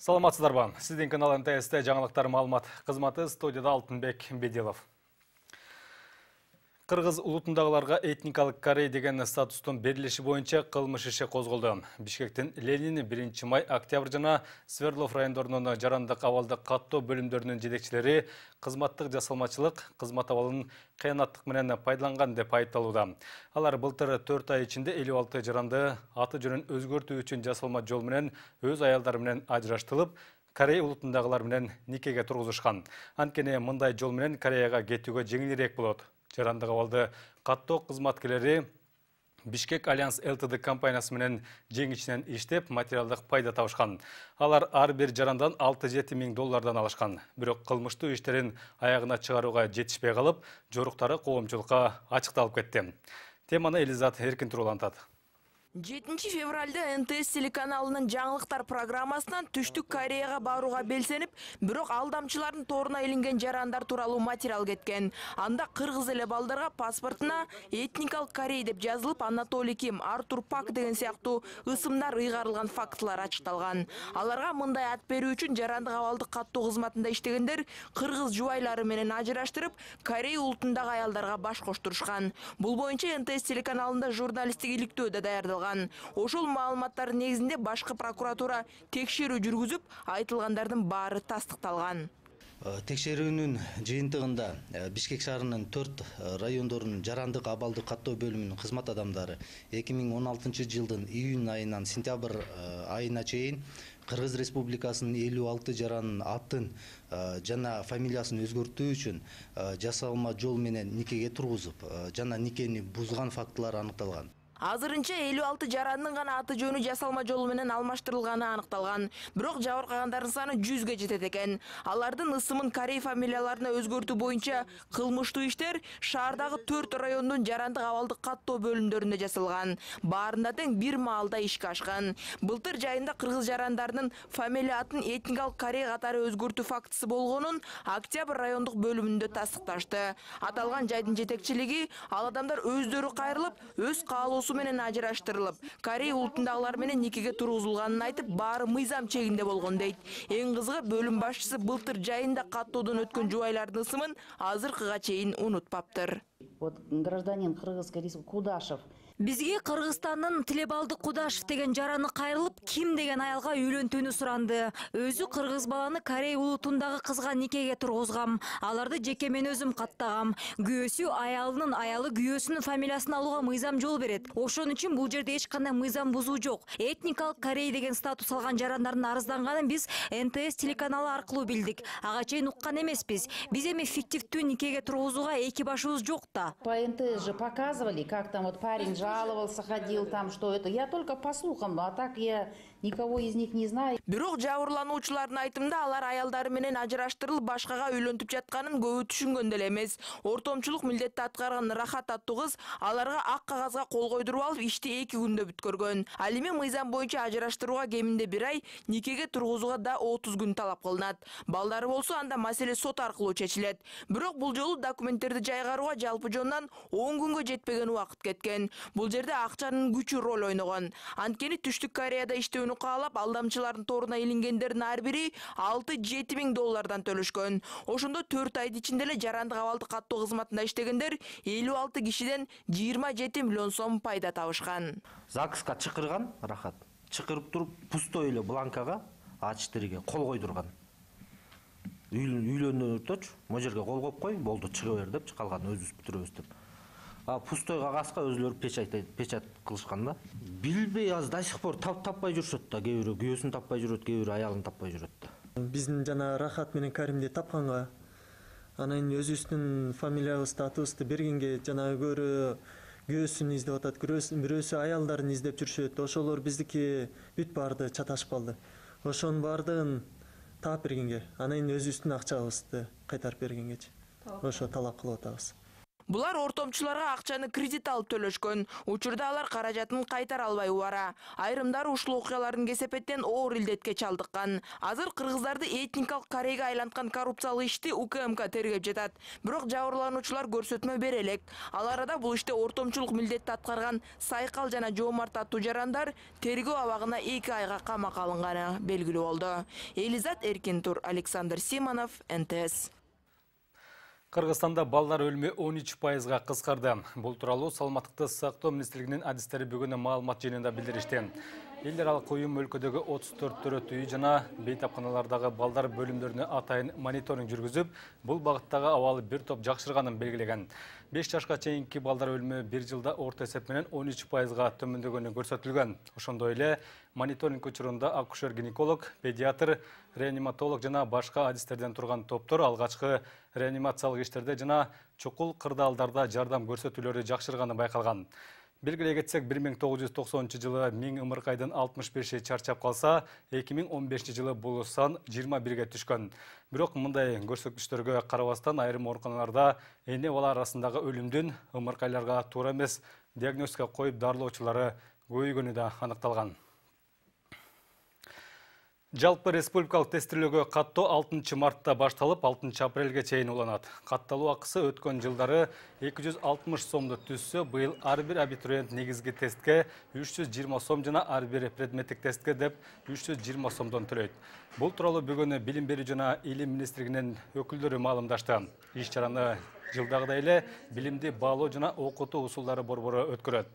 Саламатсыздарбы? Сиздин канал МТС жаңылыктар маалымат кызматы, студияда Алтынбек Бедилов. Кыргыз улутундагыларга этникалык корей деген статустун берилиши боюнча кылмыш иши козголду. Бишкектин Ленин, 1 май, Октябрь жана Свердлов райондорунун жарандык абалды каттоо бөлүмдөрүнүн жетекчилери кызматтык жасалмачылык, кызмат абалын кыянаттык менен пайдаланган деп айыпталууда. Алар былтыр 4 ай ичинде 56 жаранды аты жөнүн өзгөртүү үчүн жасалма жол менен өз аялдары менен ажыраштырып, Корей улутундагылар менен никеге тургузушкан. Анткени мындай жол менен Кореяга кетүүгө жеңилирээк болот. Жарандык абалды каттоо кызматкерлери Бишкек Альянс ЛТД компаниясы менен жеңичинен иштеп, материалдык пайда табышкан. Алар ар бир жарандан 6-7 миң доллардан алышкан. Бирок кылмыштуу иштерин аягына чыгарууга жетишпей калып, жоруктары коомчулукка ачыкталып кетти. Теманы Элизат Эркин турулантат. 7 февралда НТС телеканалынын жаңылыктар программасынан Түштүк Кореяга барууга белсенип, бирок алдамчылардын торуна илинген жарандар тууралуу материал кеткен. Анда кыргыз эле балдарга паспортуна этникалык корей деп жазылып, Анатолий Ким, Артур Пак деген сыяктуу ысымдар ыйгарылган фактылар ачыкталган. Аларга мындай ат берүү үчүн жарандык абалды каттоо кызматында иштегендер кыргыз жубайлары менен ажыраштырып, Корей улутундагы аялдарга баш коштурушкан. Бул боюнча НТС телеканалында журналисттик иликтөөдө даярдалган. Ошол маалыматтардын негизинде башкы прокуратура текшерүү жүргүзүп, айтылгандардын баары тастыкталган. Текшерүүнүн жыйынтыгында Бишкек шаарынын 4 райондорунун жарандык абалды каттоо бөлүмүнүн кызмат адамдары 2016 жылдын июнь айынан сентябрь айына чейин Кыргыз Республикасынын 56 жаранын атын жана фамилиясын өзгөртүү үчүн жасалма жол менен никеге тургузуп, жана никени бузган фактылар аныкталган. Азырынча 56 жарандын гана аты жөнү жасалма жол менен алмаштырылганы аныкталган. Бирок жабыркагандардын саны 100ге жетет экен. Алардын ысымын корей фамилияларына өзгөртүү боюнча кылмыштуу иштер шаардагы 4 райондун жарандык абалды каттоо бөлүмдөрүндө жасалган. Баарында тең бир маалда ишке ашкан. Былтыр жайында кыргыз жарандарынын фамилия атын этникалык корей катары өзгөртүү фактысы болгонун Октябрь райондук бөлүмүндө тастыкташты. Аталган жайдын жетекчилиги ал адамдар өздөрү кайрылып, өз каалоосу менен ажыраштырылып, Корей улутундагылар менен никеге тургузулганын айтып, баары мыйзам чегинде болгон дейт. Эң кызыгы бөлүм башчысы былтыр жайында каттоодон өткөн жубайлардын ысымын азыркыга чейин унутпаптыр. Вот гражданин Кыргызской республики Кудашев. Бизге Кыргызстандын Тилебалды Кудашев деген жараны кайрылып, Ким деген аялга үйлөнтүүнү суранды. Өзү кыргыз баланы Корей улутундагы кызга никеге тургузгам. Аларды жеке мен өзүм каттагам. Күйөөсү аялынын аялы күйөөсүнүн фамилиясын алууга мыйзам жол берет. Ошон үчүн бул жерде эч кандай мыйзам бузуу жок. Этникалык Корей деген статус алган жарандардын арызданганын биз НТС телеканалы аркылуу билдик. Ага чейин уккан эмеспиз. Биз эми фиктивдүү никеге тургузууга эки башыбыз жок да. По НТС же показывали, как там вот парень жаловался, ходил там, что это. Я только по слухам, а так я никого из них не знаю. Бирок жабырлануучулардын айтымында алар аялдары менен ажыраштырылып, башкага үйлөнтүп жатканын көбү түшүнгөн деле эмес. Ортомчулук милдетти аткарган Рахат аттуу кыз аларга ак кагазга кол койдуруп алып, ишти 2 күндө бүткөргөн. Ал эми мыйзам боюнча ажыраштырууга кеминде 1 ай, никеге тургузууга да 30 күн талап кылынат. Балдары болсо анда маселе сот аркылуу чечилет. Бирок бул жолу документтерди жайгарууга жалпы жонунан 10 күнгө жетпеген убакыт кеткен. Бул жерде акчанын күчү роль ойногон. Анткени Түштүк Кореяда иштөөнү каалап, алдамчылардын торуна илингендердин ар бири 6-7 миң доллардан төлөшкөн. Ошондо 4 айдын ичинде эле жарандык абалды каттоо кызматында иштегендер 56 кишиден 27 миллион сом пайда табышкан. ЗАГСка чакырган Рахат. Чакырып туруп, пустой эле бланкага А4ге кол койдурган. Үйлөнүүтөчү, могу жерге кол коюп кой, болду, чыга бер деп, калган өзүбүз бүтүрөбүз деп. А пустой кагазга өзүлөрү печать кылышкан да. Билбей азыр до сих пор таппай жүрүшөт да, кээ бирөө күйөөсүн таппай жүрөт, кээ бирөө аялын таппай жүрөт да. Биздин жана Рахат менен Каримди тапканга, анан өзүбүздүн фамилиябызды, атыбызды бергенге жана күйөөсүн издеп атат, бирөөсү аялдарын издеп жүрүшөт. Ошолор биздики бүт баарды чаташып калды. Ошонун баардыгын таап бергенге, анан өзүбүздүн акчабызды кайтарып бергенгечи. Ошо талап кылып атабыз. Булар ортомчуларга акчаны кредит алып төлөшкөн. Учурда алар каражатын кайтара албай убара. Айрымдары ушул окуялардын кесепеттен оор илдетке чалдыккан. Азыр кыргыздарды этникалык корейге айланткан коррупциялык ишти УКМК тергеп жатат. Бирок жабырлануучулар көрсөтмө бере элек. Ал арада бул иште ортомчулук милдетти аткарган Сайкал жана Жоомарт аттуу жарандар тергөө абагына 2 айга камакка алынганы белгилүү болду. Элизат Эркинтур, Александр Симонов, НТС. Кыргызстанда балдар өлүмү 13%га кыскарды. Бул тууралуу Саламаттыкты сактоо министрлигинин адистери бүгүн маалымат жыйынында билдиришти. Эл аралык уюм өлкөдөгү 34 төрөт үй жана бейтапканалардагы балдар бөлүмдөрүнө атайын мониторинг жүргүзүп, бул багыттагы абалы бир топ жакшырганын белгилеген. 5 жашка чейинки балдар өлүмү бир жылда орто эсеп менен 13%га төмөндөгөнү көрсөтүлгөн. Ошондой эле мониторинг учурунда акушер-гинеколог, педиатр, реаниматолог жана башка адистерден турган топтор алгачкы реанимациялык иштерде жана чукул кырдаалдарда жардам көрсөтүүлөрү жакшырганы байкалган. Белгилей кетсек, 1990 жылы 1000 ымыркайдын 65-и чарчап калса, 2015 жылы бул сан 21ге түшкөн. Бирок мындай көрсөткүчтөргө карабастан айрым ооруканаларда эне бала арасындагы өлүмдүн ымыркайларга туура эмес диагностика коюп дарылоочулары көбөйгөнү да аныкталган. Жалпы республикалык тестилөөгө каттоо 6 мартта башталып, 6 апрелге чейин уланат. Катталуу акысы өткөн жылдары 260 сомду түзсө, быйыл ар бир абитуриент негизги тестке 320 сом жана ар бир предметтик тестке деп 320 сомдон төлөйт. Бул тууралуу бүгүн Билим берүү жана Илим министрлигинин өкүлдөрү маалымдашты. Иш-чараны жылдагыдай эле билимди баалоо жана окутуу усулдары борбору өткөрөт.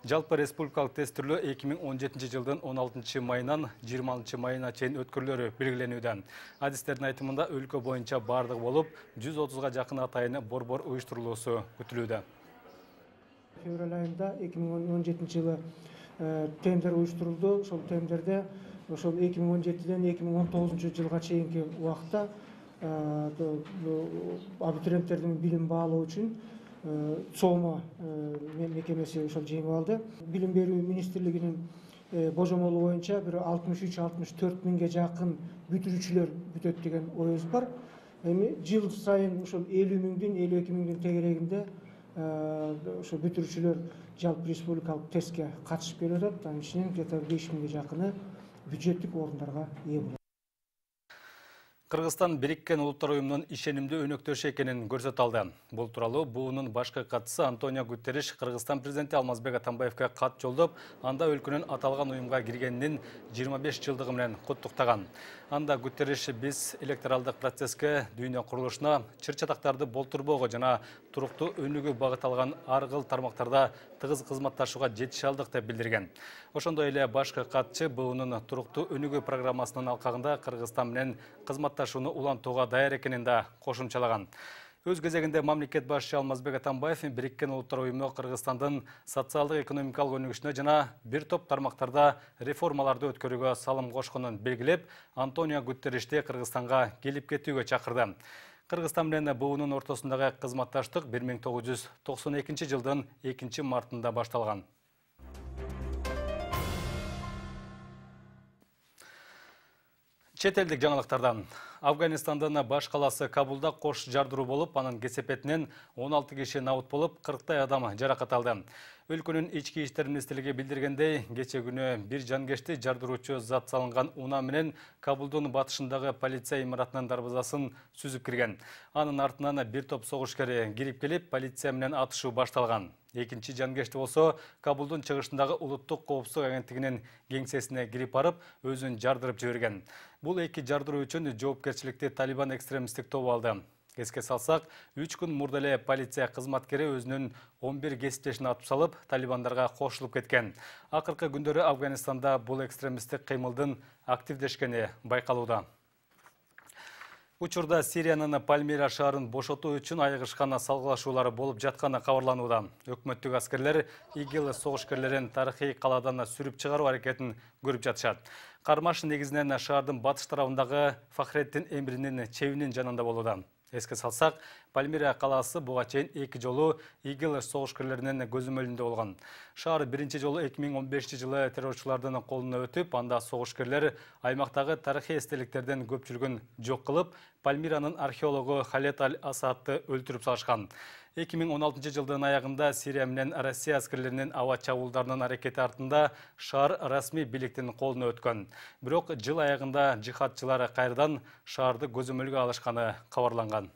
Жалпы республикалык тестилөө 2017 жылдын 16 майынан 20 майына чейин өткөрүлөрү белгиленүүдө. Адистердин айтымында өлкө боюнча бардыгы болуп, 130га жакын атайын борбор уюштурулуусу күтүлүүдө. Февраль айында 2017 жылы тендер уюштурулду. Ошол тендерде ошол 2017ден 2019 жылга чейинки убакта абитуриенттердин билим баалоо үчүн ЦОМО мекемеси ошол жеңип алды. Билим берүү министрлигинин божомолу боюнча бир 63-64 миңге жакын бүтүрүүчүлөр бүтөт деген оюбуз бар. Эми жыл сайын ошол 50 миңдин 52 миңдин тегерегинде ошо бүтүрүүчүлөр жалпы республикалык тестке катышып келип атат. Анын ичинен где-то 5 миңге жакыны бюджеттик орундарга ээ болот. Кыргызстан Бириккен Улуттар уюмунун ишенимдүү өнөктөшү экенин көрсөтө алды. Бул тууралуу буунун башкы катчысы Антонио Гутерриш Кыргызстан президенти Алмазбек Атамбаевге кат жолдоп, анда өлкөнүн аталган уюмга киргенинин 25 жылдыгы менен куттуктаган. Анда Гутерриш биз электоралдык процесске, дүйнө курулушуна, чыр-чатактарды болтурбоого жана туруктуу өнүгүү багыт алган ар кыл тармактарда тыгыз кызматташууга жетише алдык деп билдирген. Ошондой эле башкы катчы буунун туруктуу өнүгүү программасынын алкагында Кыргызстан менен кызматташууну улантууга даяр экенин да кошумчалаган. Өз кезегинде мамлекет башчы Алмазбек Атамбаев Бириккен Улуттар уюму Кыргызстандын социалдык экономикалык өнүгүшүнө жана бир топ тармактарда реформаларды өткөрүүгө салым кошконун белгилеп, Антонио Гутерришти Кыргызстанга келип кетүүгө чакырды. Кыргызстан менен буунун ортосундагы кызматташтык 1992 жылдын 2 мартында башталган. Чет элдик жаңылыктардан. Афганистандын баш каласы Кабулда кош жардыруу болуп, анын кесепетинен 16 киши набыт болуп, 40 адам жаракат алды. Өлкөнүн ички иштер министрлиги билдиргендей, кече күнү бир жангешти жардыруучу зат салынган унаа менен Кабулдун батышындагы полиция имаратынын дарбазасын сүзүп кирген. Анын артынан бир топ согушкер кирип келип, полиция менен атышуу башталган. Экинчи жангешти болсо Кабулдун чыгышындагы улуттук коопсуздук агенттигинин кеңсесине кирип барып, өзүн жардырып жиберген. Бул эки жардыруу үчүн жоопкерчиликти Талибан экстремисттик тобу алды. Эске салсак, 3 күн мурда эле полиция кызматкери өзүнүн 11 кесиптешин атып салып, талибандарга кошулуп кеткен. Акыркы күндөрү Афганистанда бул экстремисттик кыймылдын активдешкени байкалууда. Учурда Сириянын Пальмира шаарын бошотуу үчүн айыгышкан салгылашуулары болуп жатканы кабарланууда. Өкмөттүк аскерлер ИГИЛ согушкерлерин тарыхый калаадан сүрүп чыгаруу аракетин көрүп жатышат. Кармаш негизинен шаардын батыш тарабындагы Фахреттин эмринин чебинин жанында болууда. Эске салсак, Пальмира калаасы буга чейин 2 жолу ИГИЛ согушкерлеринин көзөмөлүндө болгон. Шаар биринчи жолу 2015 жылы террорчулардын колуна өтүп, анда согушкерлер аймактагы тарыхый эстеликтердин көпчүлүгүн жок кылып, Пальмиранын археологу Халет Аль-Асадты өлтүрүп салышкан. 2016 жылдын аягында Сирия менен Россия аскерлеринин аба чабуулдарынын аракети артында шаар расмий бийликтин колуна өткөн. Бирок жыл аягында жихадчылар кайрадан шаарды көзөмөлгө алышканы кабарланган.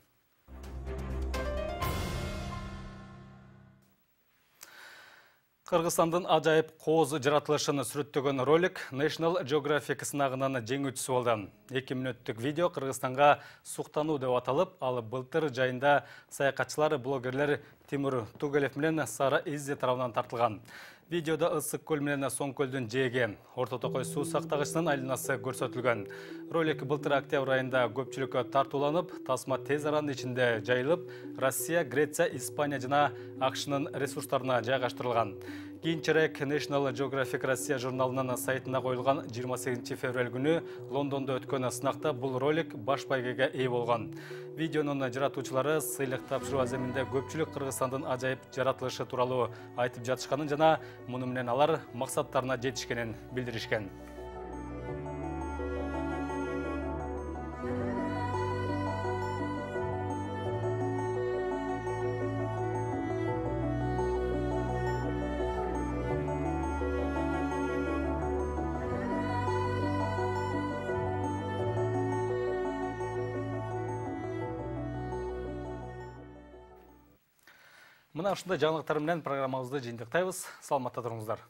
Кыргызстандын ажайып кооз жаратылышын сүрөттөгөн ролик National Geographic сынагынын жеңүүчүсү болду. 2 мүнөттүк видео Кыргызстанга суктануу деп аталып, ал былтыр жайында саякатчылар, блогерлер Тимур Тугалев менен Сара Иззи тарабынан тартылган. Видеода ысык көл менен Соң көлдүн жээги, Орто Токой суу сактагычынын айланасы көрсөтүлгөн. Ролик былтыр октябрь айында көпчүлүккө тартууланып, тасма тез аранын ичинде жайылып, Россия, Греция, Испания жана АКШнын ресурстарына жайгаштырылган. Кийинчерээк National Geographic Россия журналынын сайтына коюлган 28 февраль күнү Лондондо өткөн сынакта бул ролик баш байгеге ээ болгон. Видеонун жаратуучулары сыйлык тапшыруу аземинде көпчүлүк Кыргызстандын ажайып жаратылышы тууралуу айтып жатышканын жана муну менен алар максаттарына жетишкенин билдиришкен. Мына ушундай жаңылыктар менен программабызды жыйынтыктайбыз. Саламатта туруңуздар.